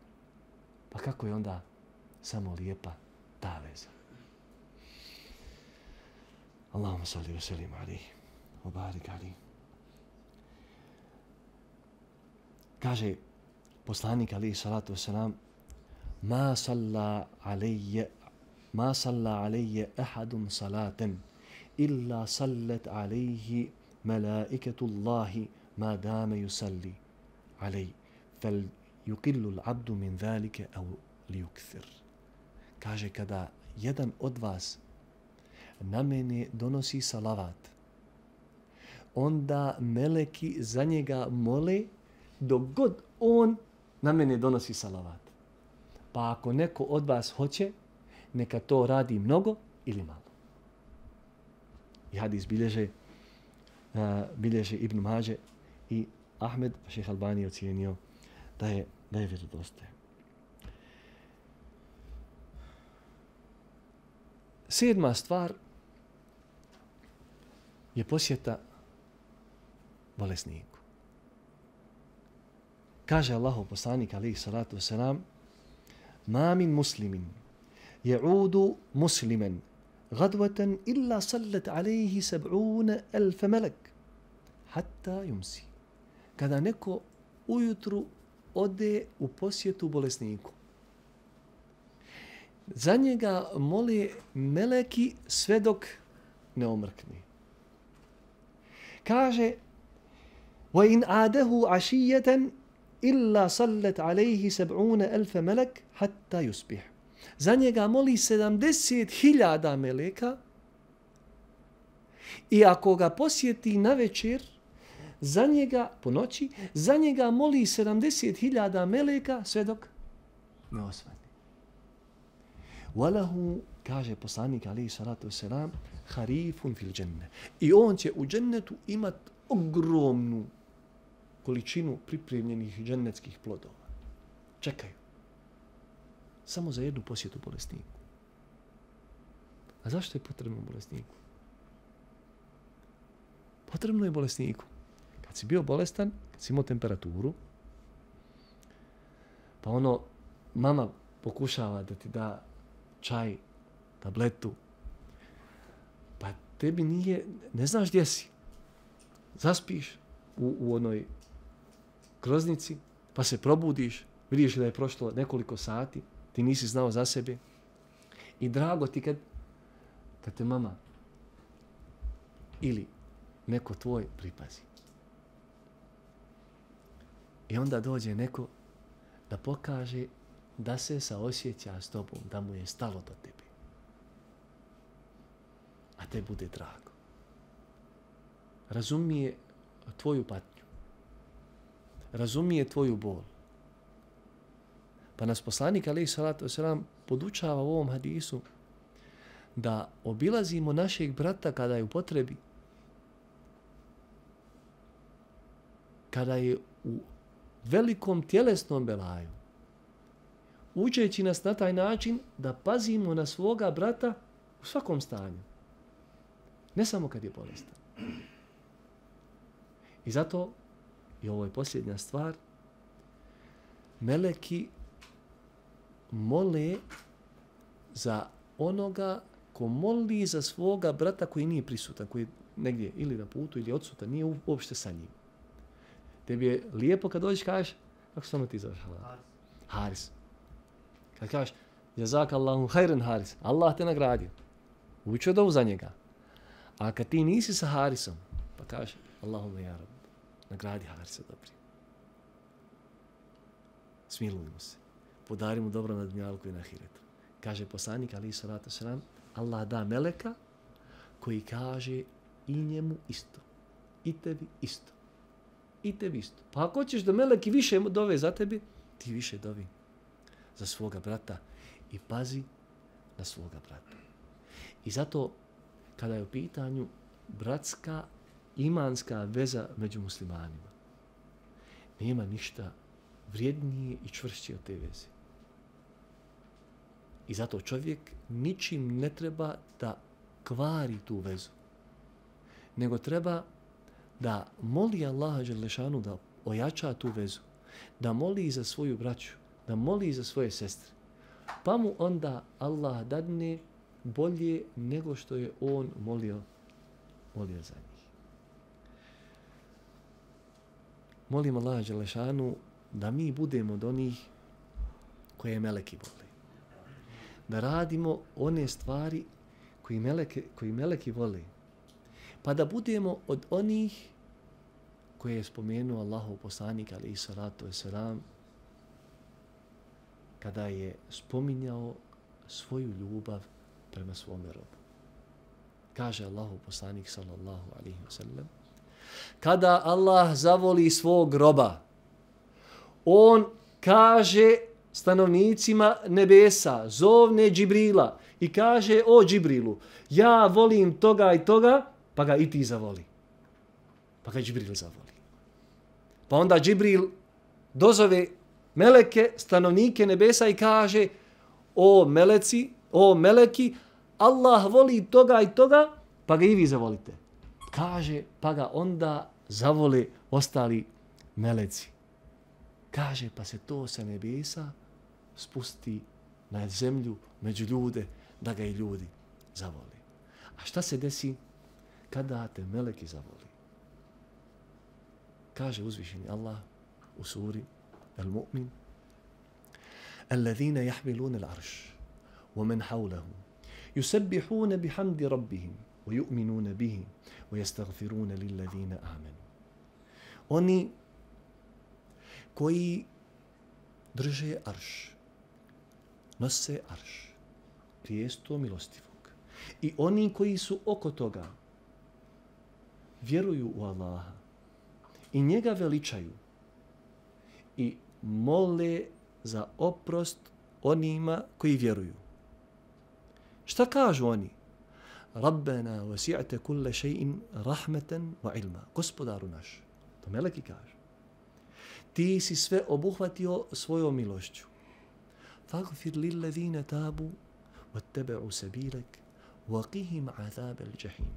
Pa kako je onda samo lijepa ta veza? Allahumma salli wa sallim alaihi wa barik alaihi. Kaže poslanik alaihi salatu wasalam, ma salla alejje ma salla alejje ahadun salaten illa sallat alejhi malaikatullahi ma dame yusalli alejhi fel yuqillu l'abdu min zalike au liyukthir. Kaže, kada jedan od vas na mene donosi salavat, onda meleki za njega mole dok god on na mene donosi salavat. Pa ako neko od vas hoće, neka to radi mnogo ili malo. I hadis bilježe, uh, bilježe Ibn Mađe i Ahmed, pa šejh Albani je ocijenio da je, da je vjerodostojan. Sedma stvar je posjeta bolesniku. Kaže Allahov poslanik alejhi salatu vesselam, ma min muslimin ya'udu musliman غدوة إلا صلت عليه سبعون ألف ملك hatta yumsi. Kada neko ujutru ode u posjetu bolesniku, za njega mole meleki sve dok ne omrkne. Kaže, wa in adahu ashiyatan illa sallat alayhi sab'una alf malak hatta yusbih. Za njega moli sedamdeset hiljada meleka i ako ga posjeti na večer, za njega, po noći, za njega moli sedamdeset hiljada meleka sve dok ne osvane. Walahu, kaže poslanik alejhi salatu vesselam, harifun fil dženne. I on će u džennetu imat ogromnu količinu pripremljenih džennetskih plodova. Čekaju. Samo za jednu posjetu bolesniku. A zašto je potrebno bolesniku? Potrebno je bolesniku. Kad si bio bolestan, kad si imao temperaturu, pa ono, mama pokušava da ti da čaj, tabletu, pa tebi nije, ne znaš gdje si. Zaspiš u, u onoj groznici, pa se probudiš, vidiš da je prošlo nekoliko sati, ti nisi znao za sebe. I drago ti kad, kad te mama ili neko tvoj pripazi. I onda dođe neko da pokaže da se saosjeća s tobom, da mu je stalo do tebe. A te bude drago. Razumije tvoju patnju. Razumije tvoju bol. Pa nas poslanik alejhi salatu vesselam podučava u ovom hadisu da obilazimo našeg brata kada je u potrebi. Kada je u velikom tjelesnom belaju. Učeći nas na taj način da pazimo na svoga brata u svakom stanju. Ne samo kad je bolestan. I zato, i ovo je posljednja stvar, meleki mole za onoga ko moli za svoga brata koji nije prisutan, koji je negdje ili na putu ili odsutan, nije uopšte sa njim. Tebi je lijepo kad dođeš kažeš, kako se samo ti zoveš? Haris. Haris. Kad kažeš, jazakallahu hajran Haris, Allah te nagradio. Učio dovu za njega. A kad ti nisi sa Harisom, pa kažeš, Allahumma ja Rab, nagradi Harisa dobri. Smilujmo se. Podari mu dobro na dunjalku i na ahiretu. Kaže poslanik alejhi salatu vesselam, Allah da meleka koji kaže i njemu isto. I tebi isto. I tebi isto. Pa ako hoćeš da meleki više dove za tebi, ti više dovi za svoga brata i pazi na svoga brata. I zato kada je u pitanju bratska imanska veza među muslimanima, nema ništa vrijednije i čvršće od te veze. I zato čovjek ničim ne treba da kvari tu vezu, nego treba da moli Allaha dželešanu da ojača tu vezu, da moli za svoju braću, da moli za svoje sestre, pa mu onda Allah dadne bolje nego što je on molio, molio za njih. Molim Allaha dželešanu da mi budemo od onih koje meleki vole. Da radimo one stvari koji meleki, koji meleki vole. Pa da budemo od onih koje je spomenuo Allahov poslanik alejhi salatu vesselam kada je spominjao svoju ljubav prema svome robu. Kaže Allahov poslanik sallallahu alejhi ve sellem: kada Allah zavoli svog roba, on kaže stanovnicima nebesa, zovne Džibrila i kaže: o Džibrilu, ja volim toga i toga, pa ga i ti zavoli. Pa ga Džibril zavoli. Pa onda Džibril dozove meleke, stanovnike nebesa i kaže: o meleci, o meleki, Allah voli toga i toga, pa ga i vi zavolite. Kaže, pa ga onda zavole ostali meleci. Kaže, pa se to sa nebesa spusti na zemlju, među ljude, da ga i ljudi zavoli. A šta se desi kada te meleki zavoli? Kaže uzvišeni Allah u suri Al-Mu'min: الذين يحملون العرش ومن حوله يسبحون بحمد ربهم ويؤمنون به ويستغفرون للذين آمنوا. Oni koji drže arš, nose arš, prijesto milostivog. I oni koji su oko toga vjeruju u Allaha i njega veličaju i mole za oprost onima koji vjeruju. Šta kažu oni? Rabbena wasi'te kulle še'in rahmeten wa ilma. Gospodaru naš. To meleki kažu. Ti si sve obuhvatio svojom milošću. Faghfir lillezine tabu wattaba'u sabilek waqihim azab al-jahim.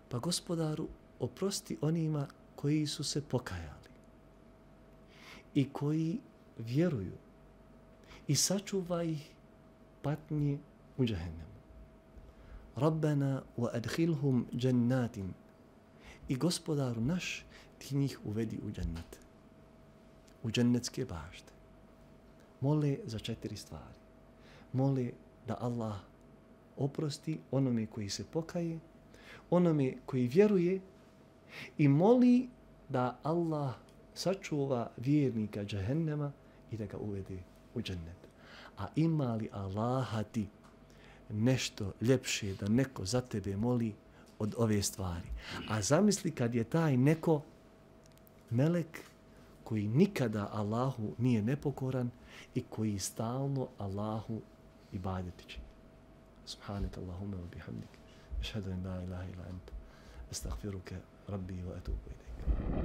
Pa gospodaru, oprosti onima koji su se pokajali i koji vjeruju i sačuvaj ih patnje u džehennemu. Rabbena wa adkhilhum jannatin. I gospodaru naš, ti njih uvedi u džennet. U džennetske bašte. Mole za četiri stvari. Mole da Allah oprosti onome koji se pokaje, onome koji vjeruje i moli da Allah sačuva vjernika džehennema i da ga uvede u džennet. A ima li Allaha ti nešto ljepše da neko za tebe moli od ove stvari? A zamisli kad je taj neko melek koji nikada Allahu nije nepokoran i koji stalno Allahu ibadeti čini. Subhanak Allahumma wa bihamdik. Ašhadu an la ilaha illa anta. Astaghfiruka rabbi wa atubu ilayk.